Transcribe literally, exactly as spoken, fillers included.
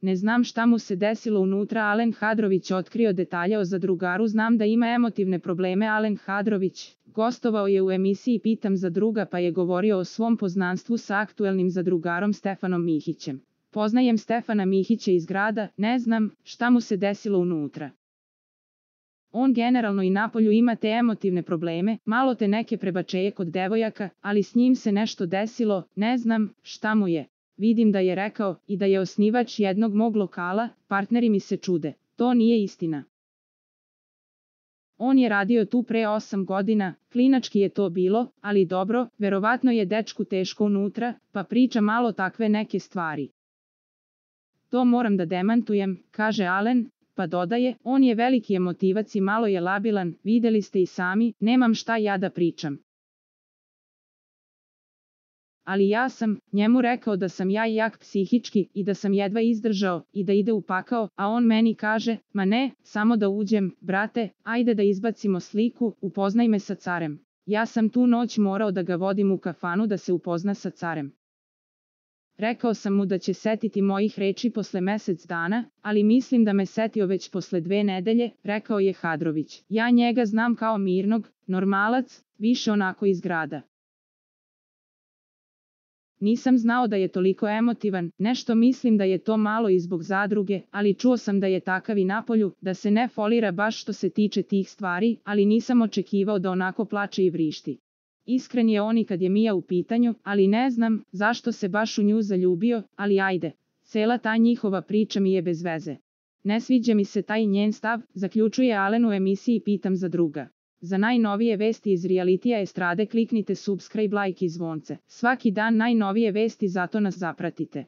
Ne znam šta mu se desilo unutra. Alen Hadrović otkrio detalje o zadrugaru. Znam da ima emotivne probleme. Alen Hadrović gostovao je u emisiji Pitam za druga pa je govorio o svom poznanstvu sa aktuelnim zadrugarom Stefanom Mihićem. Poznajem Stefana Mihića iz grada, ne znam šta mu se desilo unutra. On generalno i napolju ima te emotivne probleme, malo te neke prebačeje kod devojaka, ali s njim se nešto desilo, ne znam šta mu je. Vidim da je rekao i da je osnivač jednog mog lokala, partneri mi se čude. To nije istina. On je radio tu pre osam godina, klinački je to bilo, ali dobro, verovatno je dečku teško unutra, pa priča malo takve neke stvari. To moram da demantujem, kaže Alen, pa dodaje, on je veliki emotivac i malo je labilan, videli ste i sami, nemam šta ja da pričam. Ali ja sam njemu rekao da sam ja jak psihički i da sam jedva izdržao i da ide u pakao, a on meni kaže, ma ne, samo da uđem, brate, ajde da izbacimo sliku, upoznaj me sa carem. Ja sam tu noć morao da ga vodim u kafanu da se upozna sa carem. Rekao sam mu da će setiti mojih reči posle mesec dana, ali mislim da me setio već posle dve nedelje, rekao je Hadrović. Ja njega znam kao mirnog, normalac, više onako iz grada. Nisam znao da je toliko emotivan, nešto mislim da je to malo i zbog zadruge, ali čuo sam da je takav i napolju, da se ne folira baš što se tiče tih stvari, ali nisam očekivao da onako plače i vrišti. Iskren je on i kad je Mija u pitanju, ali ne znam zašto se baš u nju zaljubio, ali ajde, cela ta njihova priča mi je bez veze. Ne sviđa mi se taj njen stav, zaključuje Alen u emisiji Pitam za druga. Za najnovije vesti iz realitija estrade kliknite subscribe, like i zvonce. Svaki dan najnovije vesti, zato nas zapratite.